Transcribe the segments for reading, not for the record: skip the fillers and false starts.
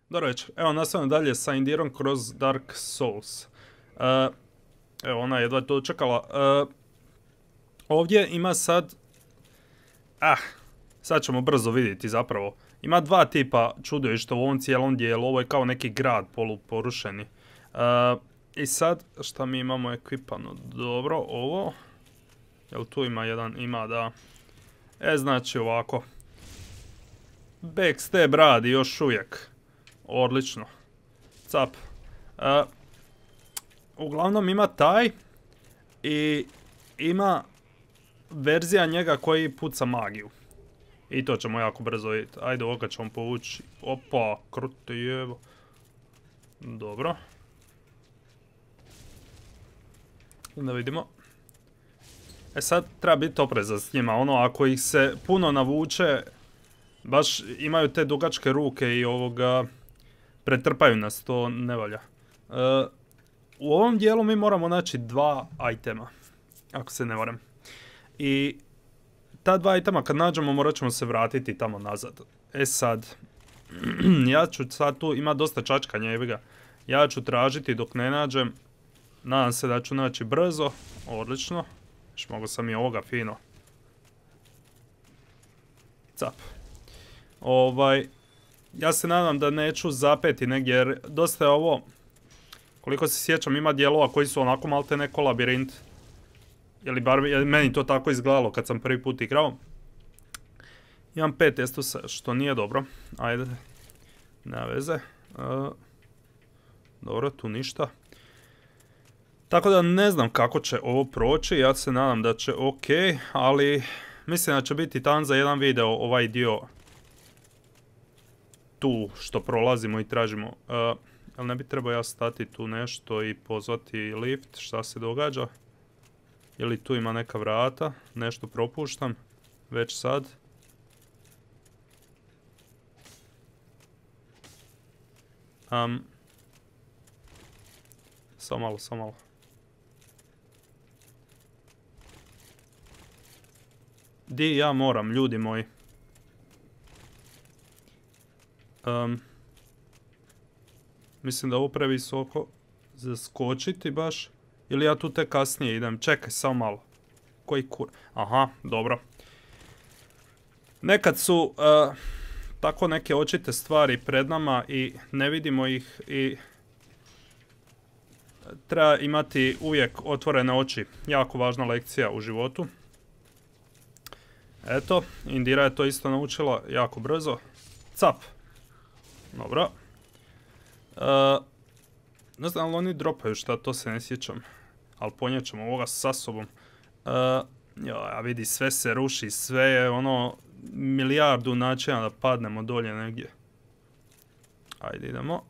Dobro večer. Evo, nastavljamo dalje sa Indirom kroz Dark Souls. Evo, ona je jedva to čekala. Ovdje ima sad... sad ćemo brzo vidjeti zapravo. Ima dva tipa čudovišta u ovom cijelom dijelu. Ovo je kao neki grad poluporušeni. I sad, šta mi imamo ekvipano? Dobro, ovo... Jel tu ima jedan? Ima, da. Znači ovako. Backstab radi još uvijek. Odlično. Cap. Uglavnom ima taj. I ima verzija njega koji puca magiju. I to ćemo jako brzo vidjeti. Ajde, ovoga ćemo povući. Opa, krute jevo. Dobro. Da vidimo. Sad treba biti oprezan s njima. Ono, ako ih se puno navuče, baš imaju te dugačke ruke i ovoga... Pretrpaju nas, to ne valja. U ovom dijelu mi moramo naći dva itema. Ako se ne varam. I ta dva itema kad nađemo morat ćemo se vratiti tamo nazad. Sad. Ja ću sad tu, ima dosta čačkanja, jebi ga. Ja ću tražiti dok ne nađem. Nadam se da ću naći brzo. Odlično. Još mogu sam i ovoga fino. Cap. Ja se nadam da neću zapeti negdje jer dosta je ovo, koliko se sjećam, ima dijelova koji su onako malte neko labirint. Ili bar meni to tako izgledalo kad sam prvi put igrao. Imam 5 estusa, što nije dobro. Ajde, nema veze. Dobro, tu ništa. Tako da ne znam kako će ovo proći, ja se nadam da će ok, ali mislim da će biti tan za jedan video ovaj dio tu što prolazimo i tražimo. Ali ne bi trebao ja stati tu nešto i pozvati lift, šta se događa? Ili tu ima neka vrata, nešto propuštam, već sad. Samo malo. Di ja moram, ljudi moji? Mislim da ovo previsoko zaskočiti baš. Ili ja tu tek kasnije idem. Čekaj, samo malo. Koji kur... Aha, dobro. Nekad su tako neke očite stvari pred nama i ne vidimo ih i treba imati uvijek otvorene oči. Jako važna lekcija u životu. Eto, Indira je to isto naučila jako brzo. Cap. Dobro. Ne znam, ali oni dropaju šta, to se ne sjećam. Ali ponijet ćemo ovoga sa sobom. Ja vidi, sve se ruši, sve je ono milijardu načina da padnemo dolje negdje. Ajde, idemo.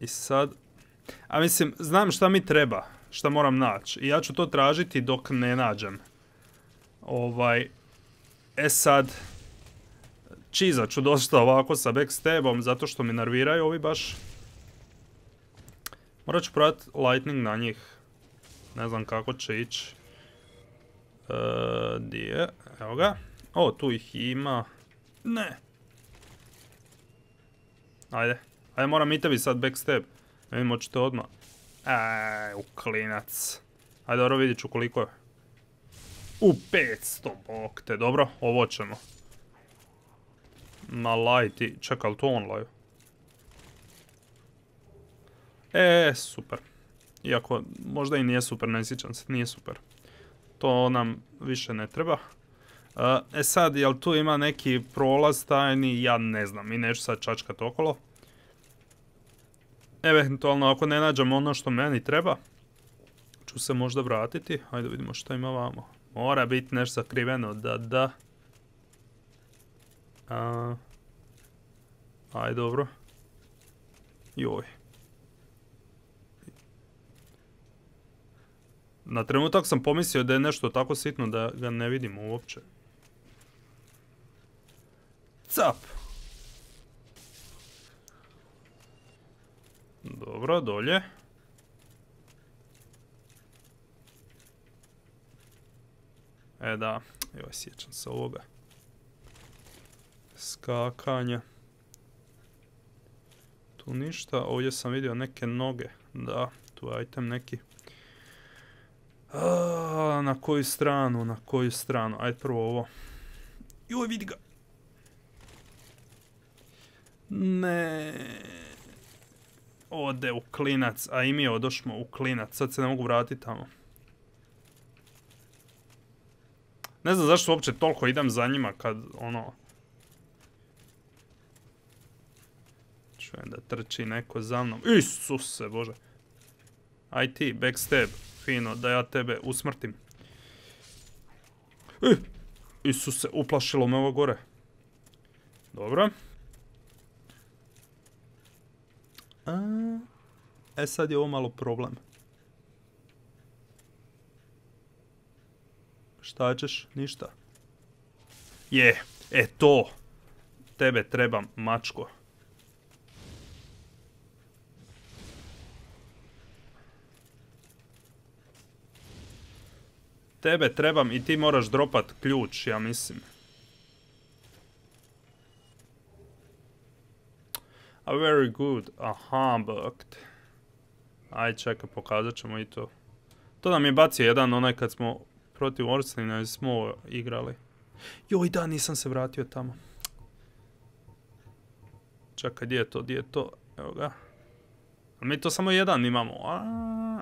I sad... A mislim, znam šta mi treba, šta moram naći. I ja ću to tražiti dok ne nađem. Sad... Čizat ću dosta ovako sa backstabom, zato što mi nerviraju ovi baš. Morat ću provati lightning na njih. Ne znam kako će ići. Di je? Evo ga. O, tu ih ima. Ne. Ajde, moram i tebi sad backstab. Ne vidim, hoćete odmah. U klinac. Ajde, dobro, vidit ću koliko je. 500, bok te, dobro, ovo ćemo. Ma lajti, čekaj, li to on laju? Super. Iako, možda i nije super, ne sjećam se, nije super. To nam više ne treba. Sad, jel tu ima neki prolaz tajni? Ja ne znam, i neću sad čačkat okolo. Eventualno, ako ne nađem ono što meni treba, ću se možda vratiti. Ajde vidimo što ima vamo. Mora biti nešto sakriveno, da. Ajde, dobro. Joj. Na trenutak sam pomislio da je nešto tako sitno da ga ne vidimo uopće. Cap! Dobro, dolje. Da, joj, sjećam se ovoga. Skakanja. Tu ništa, ovdje sam vidio neke noge. Da, tu je item neki. Na koju stranu, na koju stranu? Ajde prvo ovo. Joj, vidi ga. Ne. Ode u klinac, a i mi odošmo u klinac. Sad se ne mogu vratiti tamo. Ne znam zašto uopće toliko idem za njima kad ono... Čujem da trči neko za mnom. Isuse bože. Aj ti, backstab. Fino, da ja tebe usmrtim. Isuse, uplašilo me ovo gore. Dobro. Sad je ovo malo problem. Šta ćeš? Ništa. To. Tebe trebam, mačko. Tebe trebam i ti moraš dropat ključ, ja mislim. Very good. Aha, bugged. Aj, čekaj, pokazat ćemo i to. To nam je bacio jedan onaj kad smo protiv Orslina smo igrali. Joj, da, nisam se vratio tamo. Čekaj, gdje je to? Evo ga. Mi to samo jedan imamo.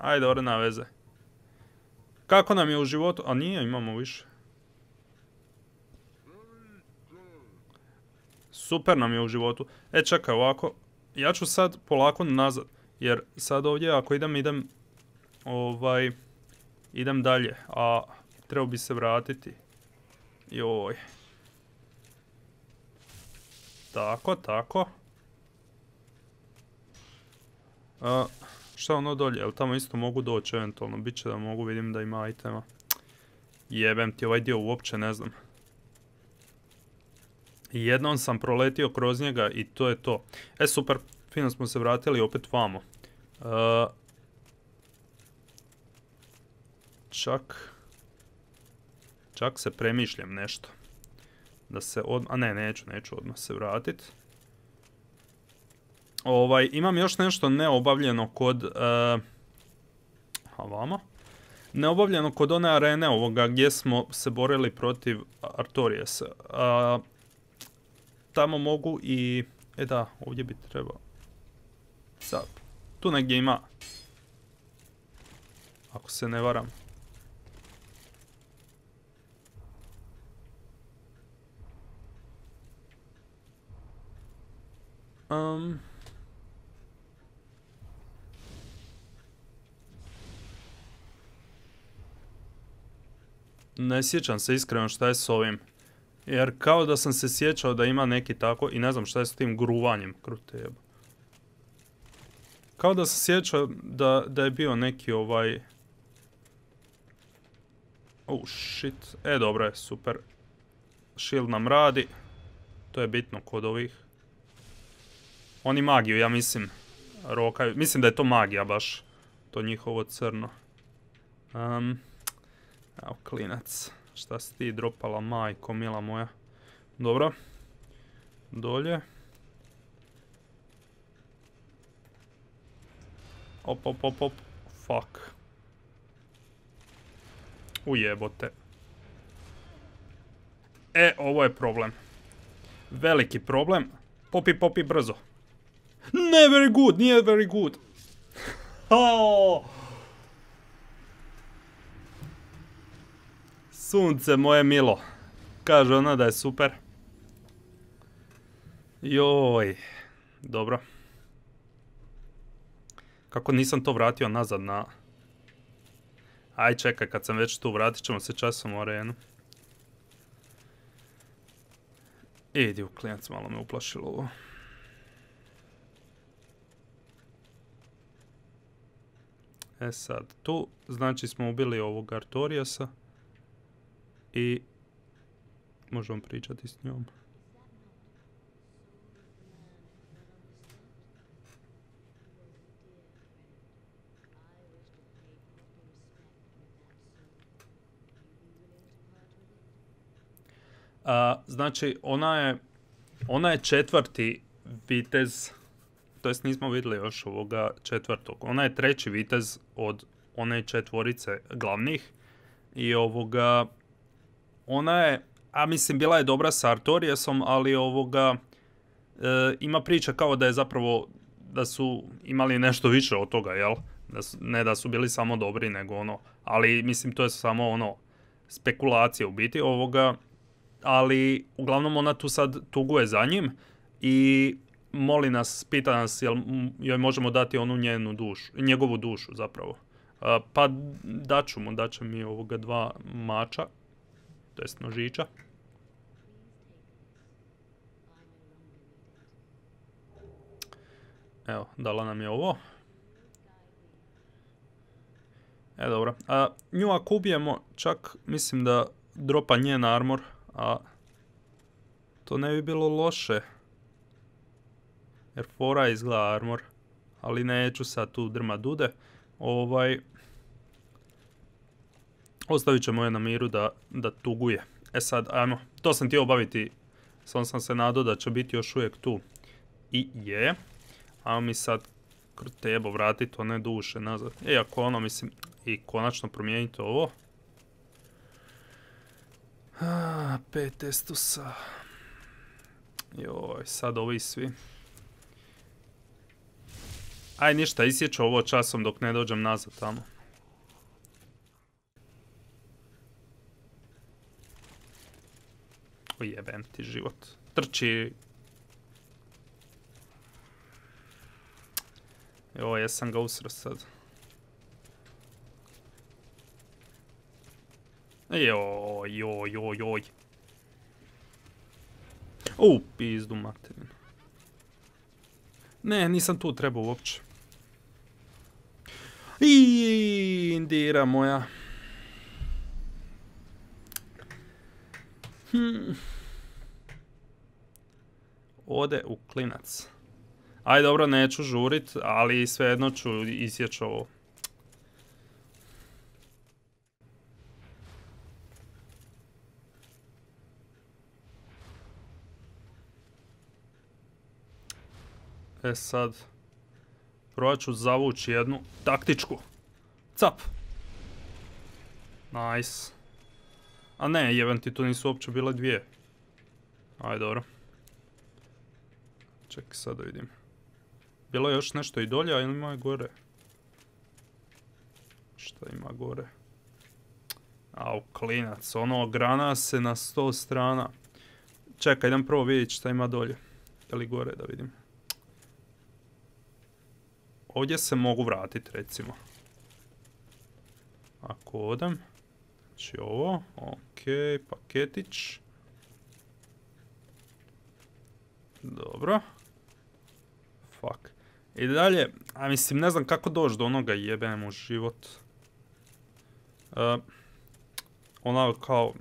Ajde, ore na veze. Kako nam je u životu? A nije, imamo više. Super nam je u životu. Čekaj, ovako. Ja ću sad polako nazad. Jer sad ovdje ako idem dalje. A trebao bi se vratiti. Joj. Tako. Šta ono dolje? Jel tamo isto mogu doći eventualno? Biće da mogu, vidim da ima itema. Jebem ti, ovaj dio uopće ne znam. Jednom sam proletio kroz njega i to je to. Super, fino smo se vratili opet vamo. Čak se premišljam nešto. Da se neću odmah se vratiti. Imam još nešto neobavljeno kod... vamo. Neobavljeno kod one arene ovoga gdje smo se borili protiv Artoriasa. Tamo mogu i... da, ovdje bi trebao... Sad, tu negdje ima... Ako se ne varam. Ne sjećam se iskreno šta je s ovim. Jer kao da sam se sjećao da ima neki tako i ne znam šta je s tim gruvanjem. Krute. Kao da sam sjećao da je bio neki ovaj... Oh shit. Dobro je, super. Shield nam radi. To je bitno kod ovih. Oni magiju, ja mislim, rokaju. Mislim da je to magija baš. To njihovo crno. Evo, klinac. Šta si ti dropala, majko, mila moja. Dobro. Dolje. Op. Fuck. Ujebote. Ovo je problem. Veliki problem. Popi, brzo. Ne, very good, nije very good. Sunce moje milo. Kaže ona da je super. Joj. Dobro. Kako nisam to vratio nazad na... Aj čekaj, kad sam već tu, vratit ćemo se časom u arenu. Idi u klinac, malo me uplašilo ovo. Sad, tu znači smo ubili ovog Artoriasa. I možemo pričati s njom. Znači, ona je četvrti vitez to jest nismo vidjeli još ovoga četvrtog. Ona je treći vitez od one četvorice glavnih i ovoga, ona je, a mislim bila je dobra sa Artoriasom, ali ovoga, ima priča kao da je zapravo, da su imali nešto više od toga, jel? Ne da su bili samo dobri, nego ono, ali mislim to je samo ono, spekulacije u biti ovoga, ali uglavnom ona tu sad tuguje za njim i moli nas, pita nas jel joj možemo dati onu njenu dušu, njegovu dušu zapravo. Pa daće mi ovoga 2 mača, to jest nožića. Evo, dala nam je ovo. Dobro. Nju ako ubijemo, čak mislim da dropa njen armor, a to ne bi bilo loše. Jer fora izgleda armor, ali neću sad tu drma dude. Ostavit ćemo je na miru da tuguje. Sad, ajmo, to sam htio obaviti, samo sam se nadao da će biti još uvijek tu. I je. Ajmo mi sad tebo vratiti one duše nazad. Ako ono, mislim, i konačno promijeniti ovo. 5 estusa. Joj, sad ovi svi. Aj ništa, isjeću ovo časom dok ne dođem nazad tamo. Ujebem ti život. Trči. Joj, jesam ga usro sad. Joj. Pizdu materinu. Ne, nisam tu trebao uopće. Indira moja. Ode u klinac. Aj dobro, neću žurit, ali svejedno ću isjeći ovo. Sad, probat ću zavući jednu taktičku. Cap! Nice. A ne, jeben ti tu nisu uopće bile 2. Aj dobro. Čekaj sad da vidim. Bilo je još nešto i dolje, a ima je gore. Šta ima gore? Au, klinac, ono grana se na 100 strana. Čekaj, idem prvo vidjeti šta ima dolje. Je li gore da vidim. Ovdje se mogu vratiti recimo. Ako odem. Znači ovo, ok, paketić. Dobro. Fuck. I dalje, a mislim ne znam kako doći do onoga jebem u život. Ona kao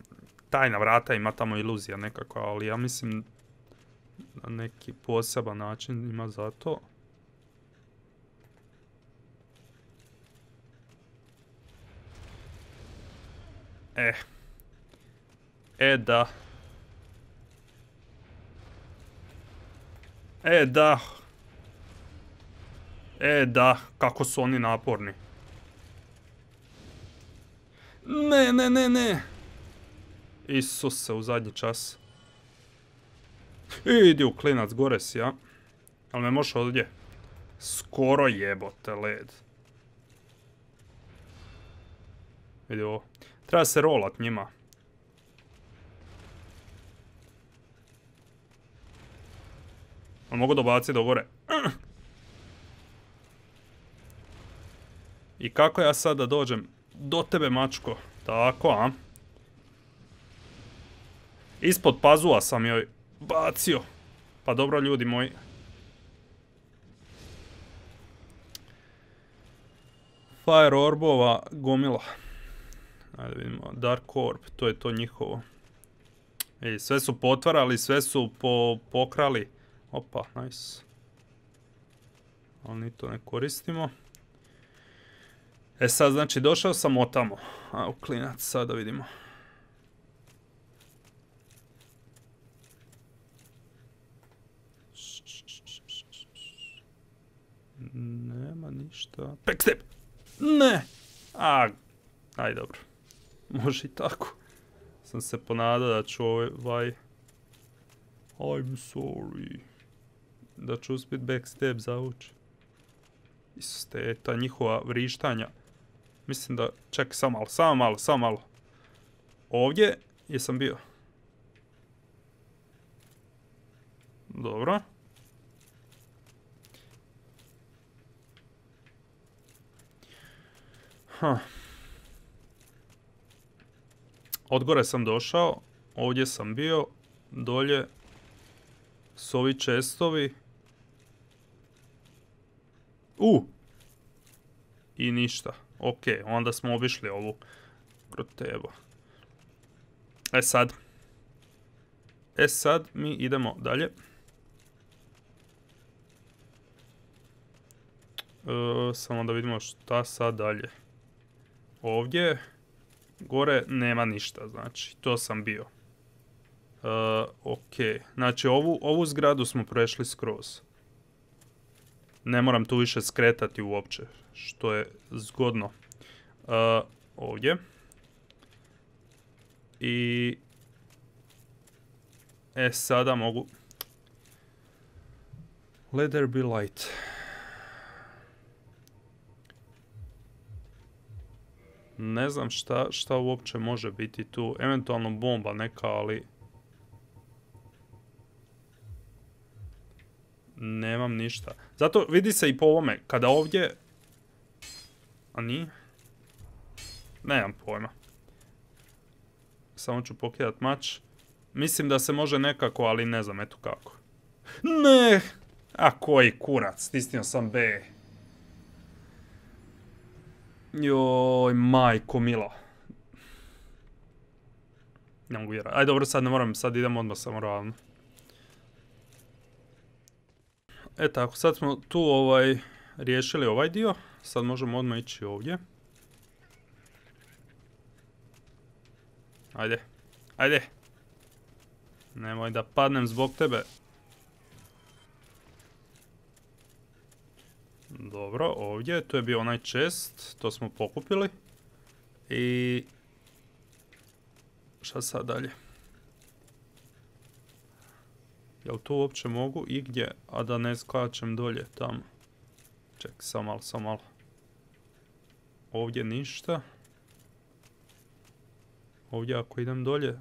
tajna vrata ima tamo iluzija nekakva, ali ja mislim na neki poseban način ima za to. Da. Da, kako su oni naporni. Ne. Isuse, u zadnji čas. Idi u klinac, gore si, ja. Ali me možeš ovdje. Skoro jebote led. Vidi ovo. Treba se rolat njima. Ali mogu dobaciti do gore. I kako ja sad da dođem do tebe, mačko? Tako, a? Ispod pazuva sam joj bacio. Pa dobro, ljudi moji. Fire orbova gomila. Ajde vidimo, Dark Orb, to je to njihovo. Sve su potvarali, sve su pokrali. Opa, nice. Ali ni to ne koristimo. Sad znači došao sam otamo. A u klinac, sad da vidimo. Nema ništa. Backstep! Ne! Aj dobro. Može i tako. Sam se ponadao da ću I'm sorry. Da ću uspjet backstep zavući. Iste, ta njihova vrištanja. Mislim da... Čekaj, samo malo. Ovdje jesam bio. Dobro. Odgore sam došao. Ovdje sam bio. Dolje su ovi čestovi. I ništa. Ok, onda smo obišli ovu grotebu. Sad mi idemo dalje. Samo da vidimo šta sad dalje. Ovdje gore nema ništa, znači to sam bio. Ok, znači ovu zgradu smo prešli skroz. Ne moram tu više skretati uopće, što je zgodno. Ovdje. I... sada mogu... Let there be light. Ne znam šta uopće može biti tu. Eventualno bomba neka, ali... Nemam ništa. Zato vidi se i po ovome. Kada ovdje... A nije? Nemam pojma. Samo ću pokidat mač. Mislim da se može nekako, ali ne znam, eto kako. Ne! Koji kurac, stisnio sam B. Joj, majko milo. Ne mogu vjerati. Ajde, dobro, sad ne moram, sad idem odmah samo ravno. Tako, sad smo tu riješili ovaj dio. Sad možemo odmah ići ovdje. Ajde. Nemoj da padnem zbog tebe. Dobro, ovdje, tu je bio onaj chest, to smo pokupili. I... Šta sad dalje? Jel tu uopće mogu igdje, a da ne skačem dolje tamo? Čekaj, samo malo. Ovdje ništa. Ovdje ako idem dolje,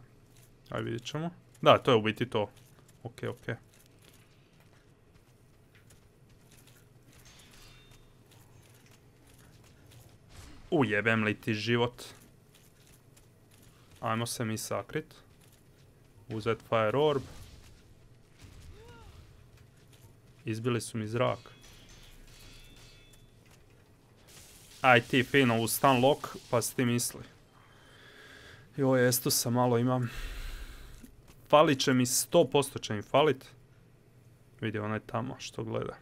aj vidjet ćemo. Da, to je u biti to. Ok. Ujebem li ti život. Ajmo se mi sakrit. Uzet fire orb. Izbili su mi zrak. Aj ti fino u stun lock, pa si ti misli. Joj, Estusa malo imam. Falit će mi, 100% će mi falit. Vidi onaj tamo što gleda.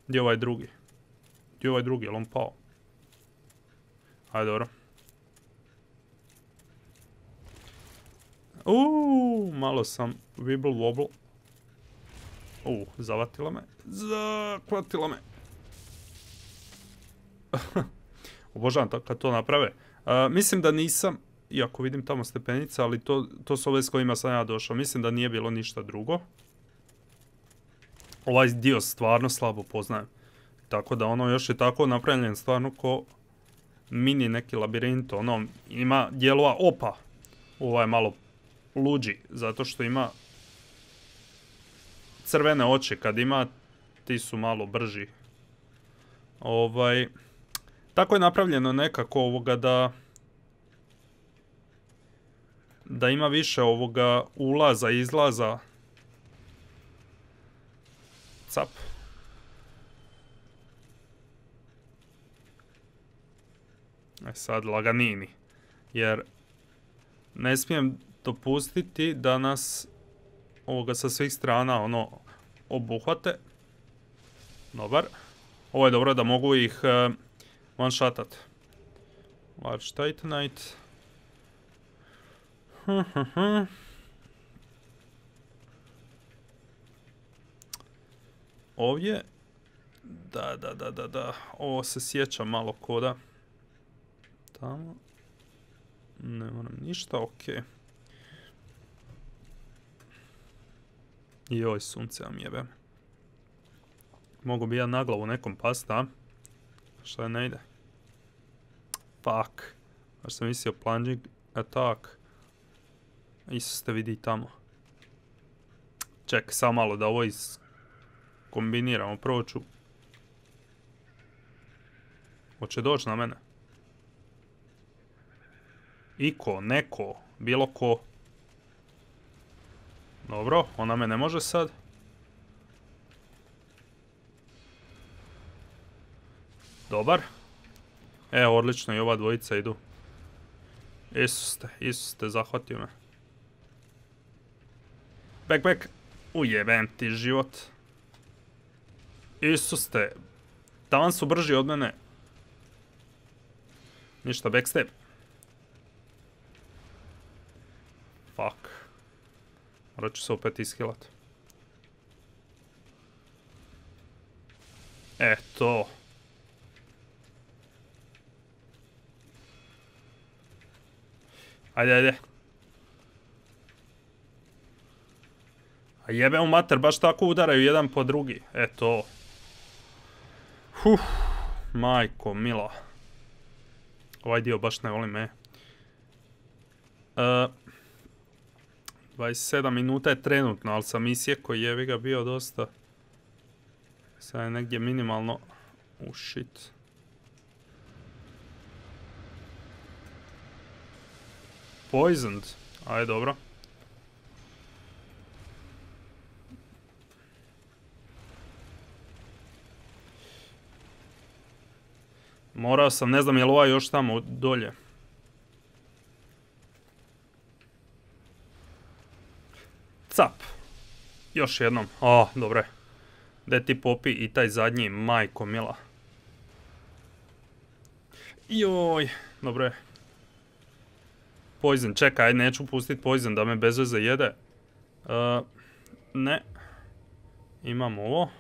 Gdje je ovaj drugi? Jel on pao? Ajde, dobro. Malo sam wibble wobble. Zavatila me. Zakvatila me. Obožavam kad to naprave. Mislim da nisam, iako vidim tamo stepenice, ali to su ove s kojima sam ja došao. Mislim da nije bilo ništa drugo. Ovaj dio stvarno slabo poznajem. Tako da još je tako napravljen stvarno ko mini neki labirint. Ima dijelova opa. Ovo je malo luđi, zato što ima crvene oči. Kad ima, ti su malo brži. Tako je napravljeno nekako da ima više ulaza i izlaza. Cap. Sad laganini. Jer ne smijem dopustiti da nas sa svih strana obuhvate. Dobar. Ovo je dobro da mogu ih one-shotat. Large Titanite. Ovdje Da. Ovo se sjeća malo koda. Tamo. Ne moram ništa, okej. Joj, sunce vam jebe. Mogu bi ja na glavu nekom past, a? Šta ne ide? Fuck. Baš sam mislio plunging attack. Isuse, vidi tamo. Čekaj, samo malo da ovo kombiniramo. Prvo ću... Hoće doći na mene. Iko, neko, bilo ko. Dobro, ona me ne može sad. Dobar. Evo, odlično, i ova dvojica idu. Isuse, zahvatio me. Back. Ujebem ti život. Isuse, taman su brži od mene. Ništa, backstep. Fuck. Morat ću se opet ishilat. Eto. Ajde. A jebe u mater, baš tako udaraju jedan po drugi. Eto. Majko mila. Ovaj dio baš ne volim, 27 minuta je trenutno, ali sam isjeko i jebi ga bio dosta. Sad je negdje minimalno... shit. Poisoned. Ajde, dobro. Morao sam, ne znam je li ovaj još tamo dolje. Cap. Još jednom. Dobro je. Gdje ti popi i taj zadnji, majko mila. Joj, dobro je. Poison, čekaj, neću pustit poison da me bez veze jede. Ne. Imamo ovo.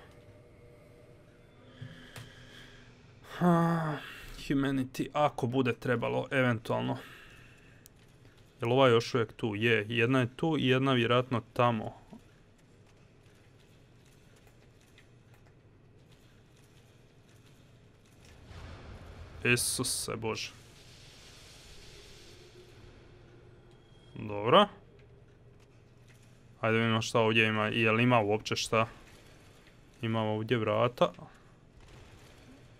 Humanity, ako bude trebalo, eventualno. Jel ova još uvijek tu? Je, jedna je tu i jedna vjerojatno tamo. Isuse Bože. Dobro. Ajde vidimo šta ovdje ima. Jel ima uopće šta? Imamo ovdje vrata.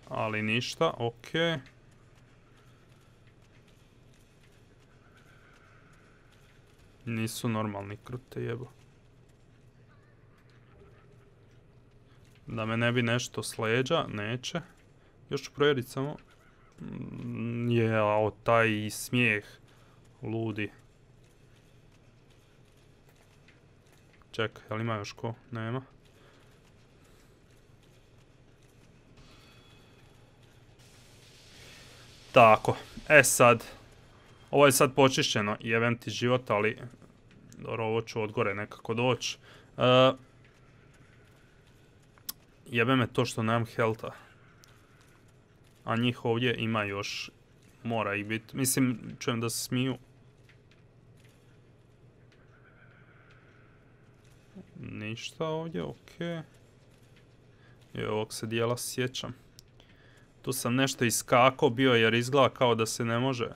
Ali ništa, okej. Nisu normalni krute, jebo. Da me ne bi nešto s leđa, neće. Još ću provjeriti samo. Jao, taj smijeh. Ludi. Čekaj, jel ima još ko? Nema. Tako, sad. Ovo je sad počišćeno, jebem ti život, ali... Dobro, ovo ću od gore nekako doći. Jebe me to što nemam healtha. A njih ovdje ima još. Mora ih biti. Mislim, čujem da se smiju. Ništa ovdje, okej. I ovog se dijela sjećam. Tu sam nešto iskakao bio jer izgleda kao da se ne može.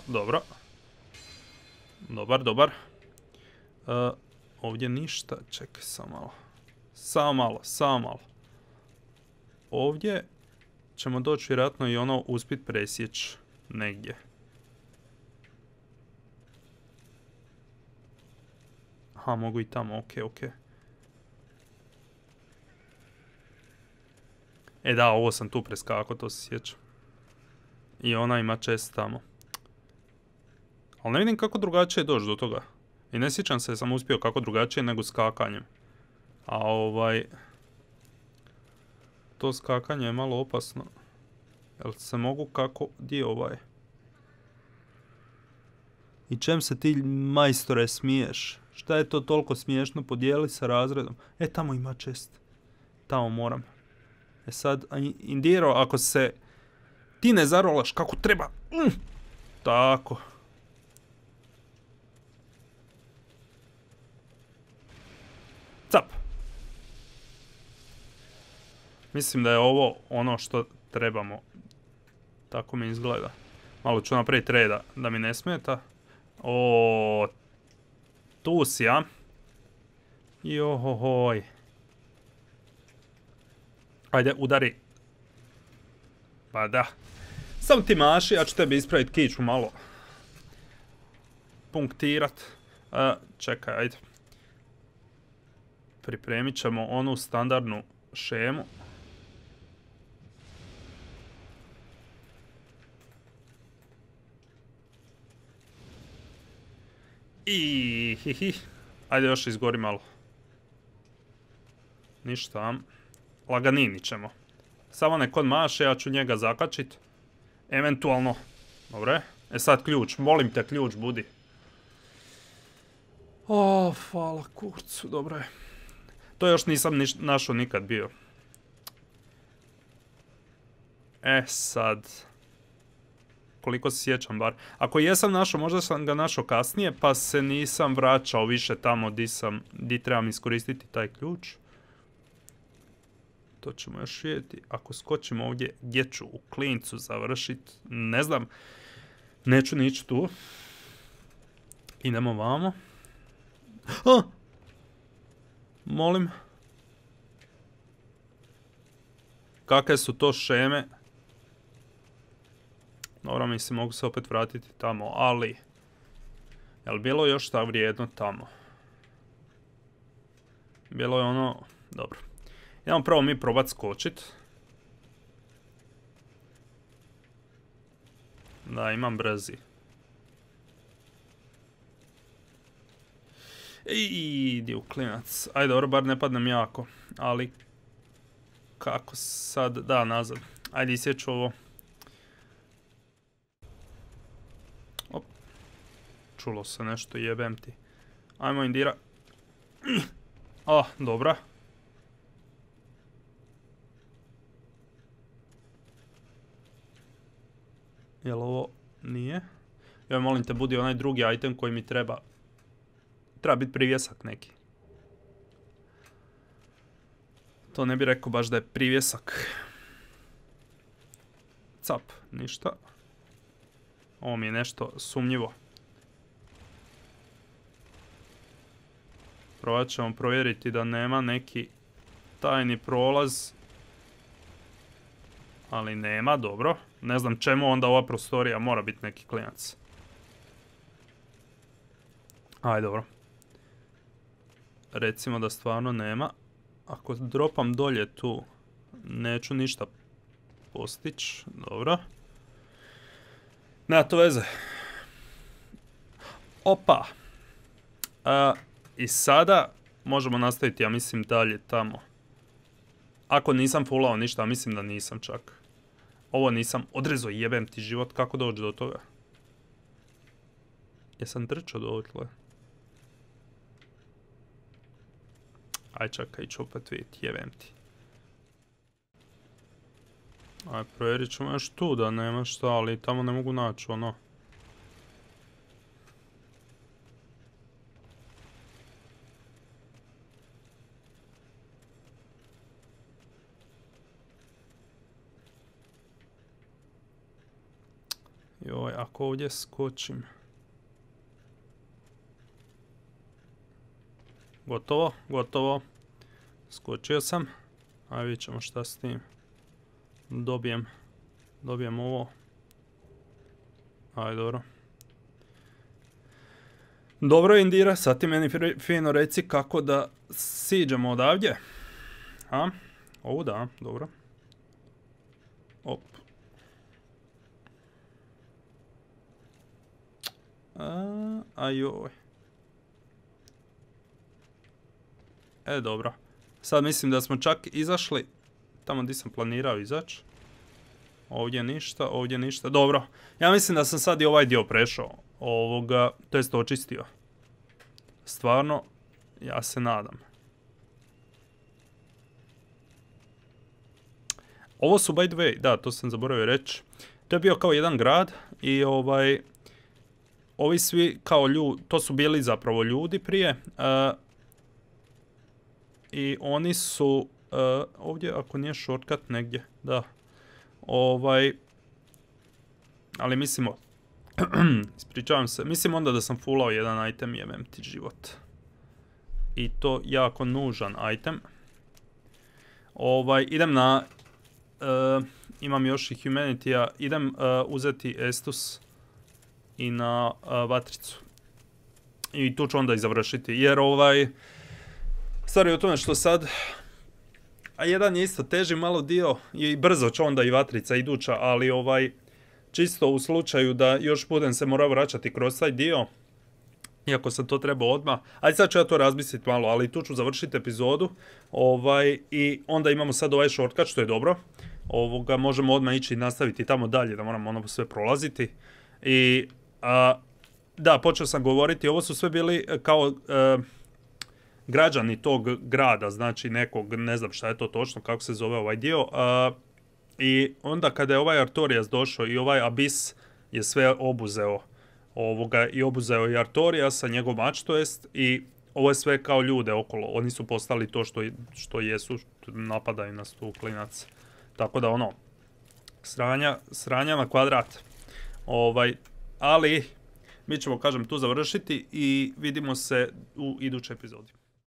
Dobro. Dobar. Ovdje ništa. Čekaj, samo malo. Ovdje ćemo doći vjerojatno i ono uspit presjeći negdje. Aha, mogu i tamo, okej. Da, ovo sam tu preskakao, to se sjećam. I ona ima čest tamo. Ali ne vidim kako drugačije doći do toga. I ne sjećam se sam uspio kako drugačije nego skakanjem. A to skakanje je malo opasno. Jel se mogu kako... Di je I čem se ti majstore smiješ? Šta je to toliko smiješno? Podijeli sa razredom. Tamo ima čest. Tamo moram. Sad, Indiro, ako se ti ne zarolaš kako treba. Tako. Cap. Mislim da je ovo ono što trebamo. Tako mi izgleda. Malo ću napraviti reda da mi ne smeta. Tu si, a? Johohoj. Ajde, udari. Pa da. Samo ti maši, ja ću tebi ispraviti kiču malo. Punktirat. Čekaj, ajde. Pripremit ćemo onu standardnu šemu. Ajde još izgori malo. Ništa. Laganini ćemo. Samo nek on maše, ja ću njega zakačit. Eventualno. Dobre. Sad ključ. Molim te, ključ budi. Hvala kurcu. Dobro je. To još nisam našao nikad bio. Sad. Koliko se sjećam bar. Ako jesam našao, možda sam ga našao kasnije, pa se nisam vraćao više tamo di trebam iskoristiti taj ključ. To ćemo još vidjeti. Ako skočimo ovdje, gdje ću u klincu završiti, ne znam. Neću ni ići tu. Idemo vamo. Molim. Kakve su to šeme? Dobro, mislim, mogu se opet vratiti tamo, ali... Jel bilo još šta vrijedno tamo? Bilo je ono... Dobro. Idemo prvo mi probat skočit. Da, imam brzi. Idi u klinac. Ajde, dobro, bar ne padnem jako. Ali... Kako sad... Da, nazad. Ajde, isjeću ovo. Op. Čulo se nešto, jebem ti. Ajmo, Indira. Dobra. Jel ovo nije? Ja molim te, budi onaj drugi item koji mi treba. Treba biti privjesak neki. To ne bi rekao baš da je privjesak. Cap, ništa. Ovo mi je nešto sumnjivo. Provat ćemo provjeriti da nema neki tajni prolaz. Ali nema, dobro. Ne znam čemu onda ova prostorija mora biti neki klinac. Ajde, dobro. Recimo da stvarno nema. Ako dropam dolje tu, neću ništa postići. Dobro. Nema to veze. Opa. I sada možemo nastaviti, ja mislim, dalje tamo. Ako nisam fullao ništa, mislim da nisam čak. Ovo nisam odrezao, jebem ti život, kako doći do toga? Jesam trčao do ovotle? Aj čekaj, ću opet vidjeti, jebem ti. Aj, provjerit ćemo još tu da nema šta, ali tamo ne mogu naći ono. Joj, ako ovdje skočim. Gotovo, gotovo. Skočio sam. Ajde, vidjet ćemo šta s tim. Dobijem ovo. Ajde, dobro. Dobro, Indira, sad ti meni fino reci kako da siđemo odavdje. Ovo da, dobro. Op. Ajoj. Dobro. Sad mislim da smo čak izašli tamo gdje sam planirao izaći. Ovdje ništa, ovdje ništa. Dobro. Ja mislim da sam sad i ovaj dio prešao. To jest očistio. Stvarno, ja se nadam. Ovo su, by the way, da, to sam zaboravio reći. To je bio kao jedan grad i ovi svi kao ljudi, to su bili zapravo ljudi prije. I oni su, ovdje ako nije shortcut negdje, da. Ali mislimo, ispričavam se, mislim onda da sam fullao jedan item, jebem ti život. I to jako nužan item. Idem na, imam još i humanity-a, idem uzeti Estus i na vatricu. I tu ću onda i završiti, jer stvar je u tome što sad, a jedan je isto teži malo dio i brzo će onda i vatrica iduća, ali čisto u slučaju da još budem se morao vraćati kroz taj dio, iako sam to trebao odmah, ajde sad ću ja to razmisliti malo, ali tu ću završiti epizodu, i onda imamo sad ovaj shortcut što je dobro, možemo odmah ići i nastaviti tamo dalje, da moramo ono sve prolaziti, i da, počeo sam govoriti, ovo su sve bili kao građani tog grada, znači nekog, ne znam šta je to točno, kako se zove ovaj dio, i onda kada je ovaj Artorias došao i ovaj Abyss je sve obuzeo i obuzeo i Artoriasa, njegov mač to jest, i ovo je sve kao ljude okolo, oni su postali to što jesu, napadaju nas tu klinac. Tako da ono, sranja na kvadrat. Ali mi ćemo, kažem, tu završiti i vidimo se u idućoj epizodi.